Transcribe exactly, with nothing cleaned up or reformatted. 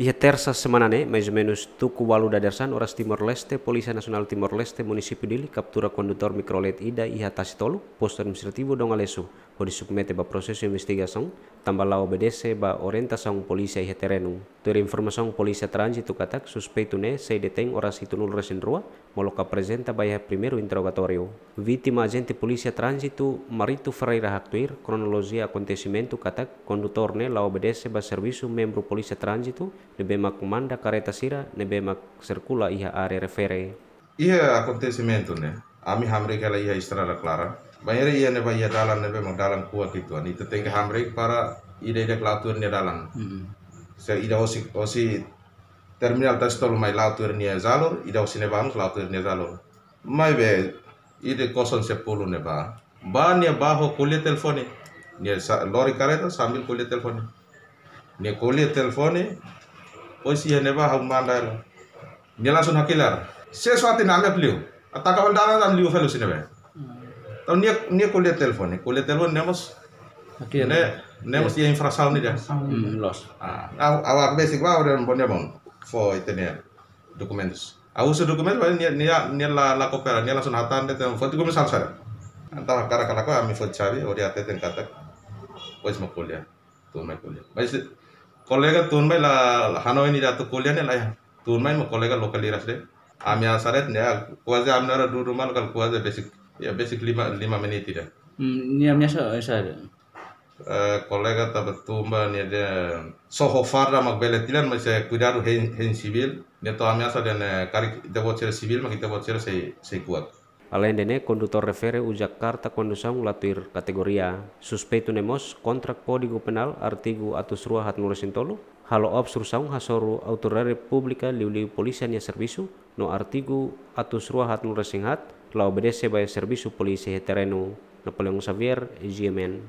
Iha Tersa semana ne'e, mais ou menus tuku ualu dadeer-saan oras Timor-Leste, Polísia Nasionál Timor-Leste, Munisípiu Dili, kaptura kondutór mikrolet ida iha Tasi Tolu, Postu Administrativu Dongalesu, hodi submete ba prosesu investigasaun, tanba la obedese ba orientasaun polísia iha terrenu. Tuir informasaun Polísia Tránzitu katak, suspeitu ne'e sei detein oras hitunulu resin rua, molok aprezenta ba iha primeiru interrogatóriu. Vítima ajente Polísia Tránzitu Marito Ferreira haktuir kronolojia akontesimentu katak kondutór ne'e la obedese ba servisu membru Polísia Tránzitu ne'ebé mak manda kareta sira ne'ebé mak sirkula iha área refere. Iha akontesimentu ne'e, ami hamriik hela iha estrada klaran. Bainhira iha ne'ebá iha dalan ne'ebé mak dalan kuak uitoan. Ita tenke hamriik para ida-idak la'o tuir nia dalan. Mm-mm. Se ida hosi, hosi terminál Tasi Tolu mai la'o tuir nia jalur, ida hosi ne'ebá mós la'o tuir nia jalur. Maibé, ida kosong sepuluh ne'ebá. Bá nia bá ho ko'alia telefone. Nia sa-, lori kareta sambil ko'alia telefone. Nia ko'alia telefone, depois iha ne'ebá ha'u manda hela. Nia langsung hakilar. Se suatu nia ami liu. Ataka hela dalan ami liu fali husi ne'ebé. Entaun nia, nia ko'alia telefone. Ko'alia telefone ne'e mós. Hakilar. Ne'e, ne'e mós iha infrasaun ida. Hmm, loos. Ah, ha'u, ha'u besik bá, udah bon dia bon. Fó ita-nia dokumentus. Ha'u husu dokumentus, nia, nia, nia la, la koopera, nia langsung hatán de'it, fó dokumentus sala-sala. Entaun hakarak ka lakohi, ami fó xave, hodi hateten katak. Depois mak ko'alia. Tun mai ko'alia. Mas kolega tun mai la, la hanoin ida atu ko'alia ne'e la iha. Tun mai mak kolega lokál iras de'it. Ami ameasa de'it ne'e, kuaze ami na'in-rua dudu malu kala kuaze besik, ya besik lima, lima menit ida. Hmm, nia ameasa, eh, saida? Eh, kolega tanba tun ba nia dehan só ho farda mak bele tilan, mas, eh, kuidadu hein, hein sivíl. Nia tau ameasa dehan, eh, karik ita-boot sira sivíl mak ita-boot sira sei, sei kuak. Aleinde ne'e, kondutór refere uza karta kondusaun la tuir kategoria. Suspeitu ne'e mós kontra Kódigu Penál artigu atus rua haatnulu resin tolu, halo obstrusaun hasoru autoridade públika liuliu polísia nia servisu, no artigu atus rua haatnulu resin haat, la obedese ba iha servisu polísia iha terrenu. Napoleão Xavier, G M N.